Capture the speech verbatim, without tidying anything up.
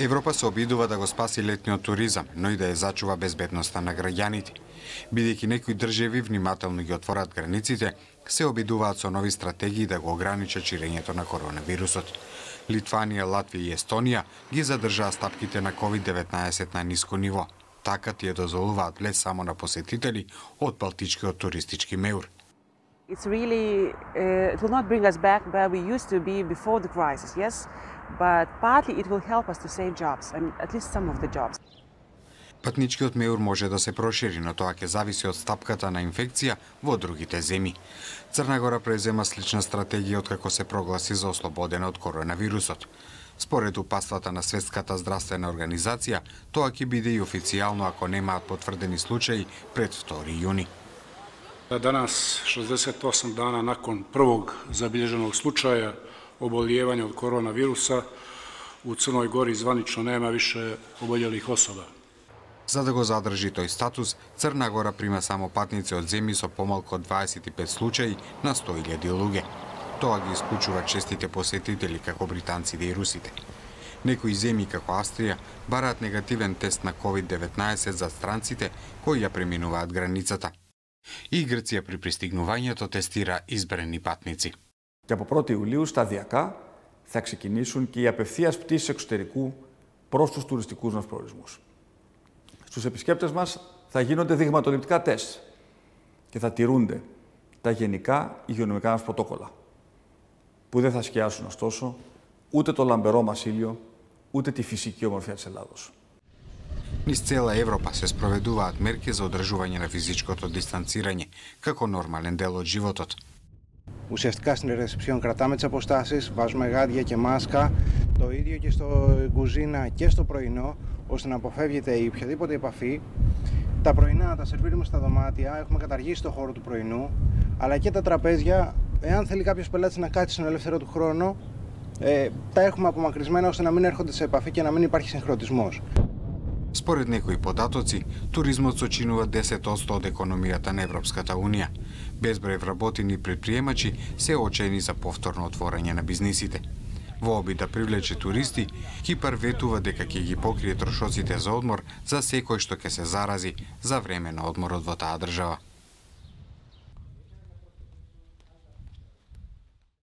Европа се обидува да го спаси летниот туризам, но и да ја зачува безбедноста на граѓаните. Бидејќи некои држави внимателно ги отворат границите, се обидуваат со нови стратегии да го ограничат ширењето на коронавирусот. Литванија, Латвија и Естонија ги задржаа стапките на ковид деветнаесет на ниско ниво. Така тие дозволуваат влез само на посетители од балтичкиот туристички меур. It's really, uh, it will not bring us back where we used to be before the crisis, yes, but partly it will help us to save jobs, I mean, at least some of the jobs. Патничкиот меур може да се прошири, но тоа ќе зависи од стапката на инфекција во другите земји. Црна Гора презема слична стратегија откако се прогласи за ослободена од коронавирусот. Според упатствата на Светската здравствена организација, тоа ќе биде и официјално ако немаат потврдени случаи пред втори јуни. Danas, šezdeset osam dana nakon prvog zabilježenog slučaja oboljevanja od koronavirusa, u Crnoj Gori zvanično nema više oboljelih osoba. За да го задржи тој статус, Црна Гора прима само патници од земји со помалку од дваесет и пет случаи на сто илјади луѓе. Тоа ги исклучува честите посетители како британците и русите. Некои земји како Австрија бараат негативен тест на ковид деветнаесет за странците кои ја преминуваат границата. И Грција при пристигнувањето τεστира избрани патници. Και από πρώτη Ιουλίου σταδιακά θα ξεκινήσουν και οι απευθείας πτήσεις εξωτερικού προς τους τουριστικούς μας προορισμούς. Στους επισκέπτες μας θα γίνονται δειγματοληπτικά τεστ και θα τηρούνται τα γενικά υγειονομικά μας πρωτόκολλα, που δεν θα σκιάσουν ωστόσο ούτε το λαμπερό μας ήλιο, ούτε τη φυσική ομορφιά της Ελλάδος. Низ цела Европа се спроведуваат мерки за одржување на физичкото дистанцирање како нормален дел од животот. Ουσιαστικά στην ρεσεψιόν κρατάμε τις αποστάσεις, βάζουμε γάντια και μάσκα, το ίδιο και στο κουζίνα και στο πρωινό, ώστε να αποφεύγεται η οποιαδήποτε επαφή. Τα πρωινά τα σερβίρουμε στα δωμάτια, έχουμε καταργήσει το χώρο του πρωινού, αλλά και τα τραπέζια, εάν θέλει κάποιος πελάτης να κάτσει στον ελεύθερο του χρόνο, ε, τα έχουμε απομακρυσμένα ώστε να μην έρχονται σε επαφή και να μην υπάρχει συγχρονισμός. Според некои податоци, туризмот сочинува десет одсто од економијата на Европската Унија. Безброј вработени предприемачи се очени за повторно отворање на бизнисите. Во обид да привлече туристи, Кипар ветува дека ќе ги покрие трошоците за одмор за секој што ќе се зарази за време на одморот во таа држава.